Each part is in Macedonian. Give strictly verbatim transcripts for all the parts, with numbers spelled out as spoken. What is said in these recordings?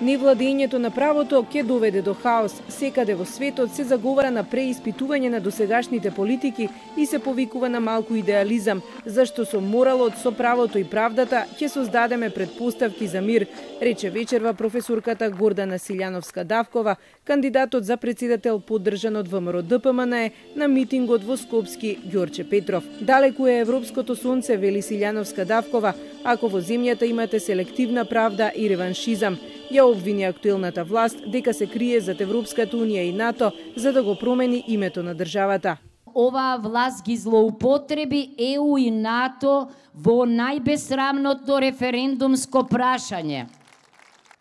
Невладењето на правото ќе доведе до хаос. Секаде во светот се заговара на преиспитување на досегашните политики и се повикува на малку идеализам, зашто со моралот, со правото и правдата ќе создадеме предпоставки за мир, рече вечерва професорката Гордана Силјановска-Давкова, кандидатот за председател поддржан од ВМРО-ДПМН на митингот во Скопски Ѓорче Петров. Далеку е европското сонце, вели Силјановска-Давкова, ако во земјата имате селективна правда и реваншизам. Ја обвини актуелната власт дека се крие зад Европската унија и НАТО за да го промени името на државата. Оваа власт ги злоупотреби Е У и НАТО во најбесрамното референдумско прашање.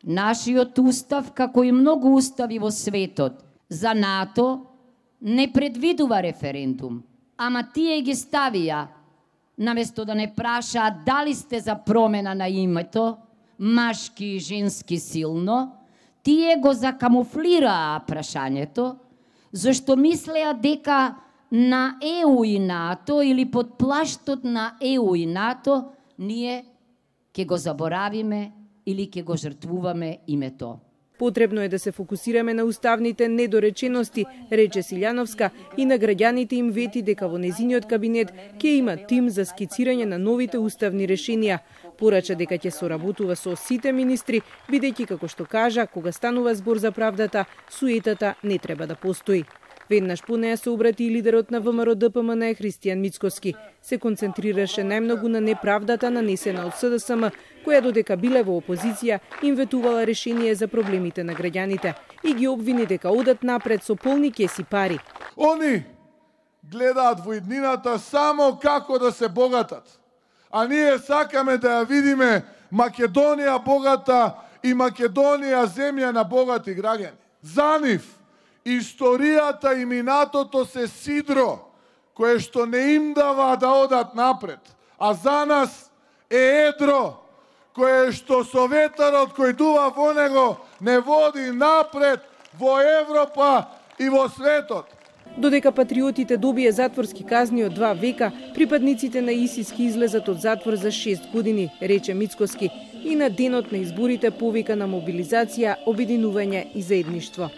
Нашиот устав, како и многу устави во светот, за НАТО не предвидува референдум, ама тие ги ставија, наместо да не прашаат дали сте за промена на името, машки и женски силно, тие го закамуфлираа прашањето, зашто мислеа дека на Е У и НАТО или под плаштот на Е У и НАТО ние ќе го заборавиме или ќе го жртвуваме името. Потребно е да се фокусираме на уставните недоречености, рече Силјановска, и на граѓаните им вети дека во незиниот кабинет ќе има тим за скицирање на новите уставни решенија. Порача дека ќе соработува со сите министри, бидејќи, како што кажа, кога станува збор за правдата, суетата не треба да постои. Веднаш по неја се обрати и лидерот на ВМРО-ДПМН Христијан Мицкоски. Се концентрираше најмногу на неправдата нанесена од С Д С М, која додека биле во опозиција им ветувала решение за проблемите на граѓаните и ги обвини дека одат напред со полни кеси пари. Они гледаат во иднината само како да се богатат, а ние сакаме да ја видиме Македонија богата и Македонија земја на богати граѓани. За нив историјата и минатото се сидро, кое што не им дава да одат напред, а за нас е едро, кое што со ветерот кој дува во него не води напред во Европа и во светот. Додека патриотите добие затворски казни од два века, припадниците на ИСИС ки излезат од затвор за шест години, рече Мицкоски, и на денот на изборите повика на мобилизација, обединување и заедништво.